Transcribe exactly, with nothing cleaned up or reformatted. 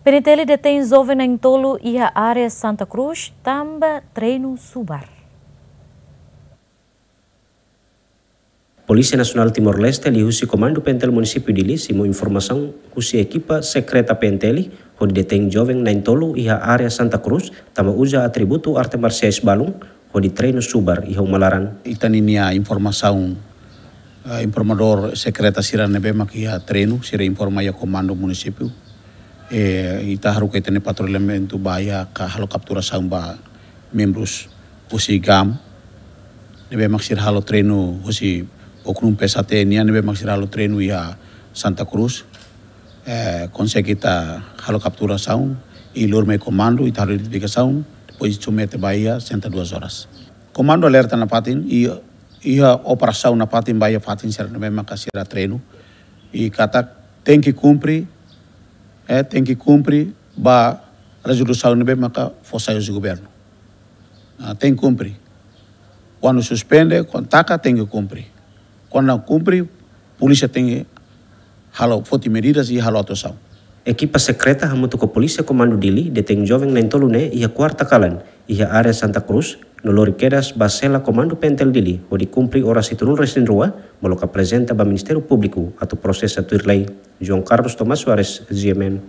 PNTL detein joven na'in-tolu iha área Santa Cruz tanba treinu subar. Polísia Nasionál Timor-Leste liuhusi Komandu PNTL Munisípiu Dili simu informasaun husi ekipa sekreta PNTL hodi detein joven na'in-tolu iha área Santa Cruz tanba uza atributu arte marsiais balun hodi treinu subar iha uma laran. Ita-nia informasaun, eh, informadór sekreta sira ne'ebé mak iha treinu, sira informa iha komandu munisípiu. Eh, ita haruka ita-nia patrullamentu ba iha ka halo kapturasaun ba membrus husi GAM, ne'ebé mak sira halo treinu husi Oknum P S A T nian, ne'ebé mak sira halo treinu iha Santa Cruz. Eh, konsege ita halo kapturasaun, i lori mai komandu, ita halo identifikasaun, depois submete ba iha sessenta e duas horas. Komandu alerta nafatin, i iha operasaun nafatin ba iha fatin sira ne'ebé maka sira treinu, i katak tenke kumpre, eh, tenke kumpre ba rezolusaun ne'ebé maka fó sai husi governu. Ah, tenke kumpre. Kuandu suspende, kuandu taka, tenke kumpre. Kuandu la kumpre, polísia tenke halo, foti medidas i halo atuasaun. Ekipa sekreta hamutuk ho Polísia Komandu Dili detein joven na'in-tolu ne'e iha kuarta kalan, iha área Santa Cruz, no lori kedas ba sela Komandu PNTL Dili hodi kumpre oras hitunulu resin rua, molok aprezenta ba Ministériu Públiku atu prosesa tuir lei. João Carlos Tomás Soares, G M N.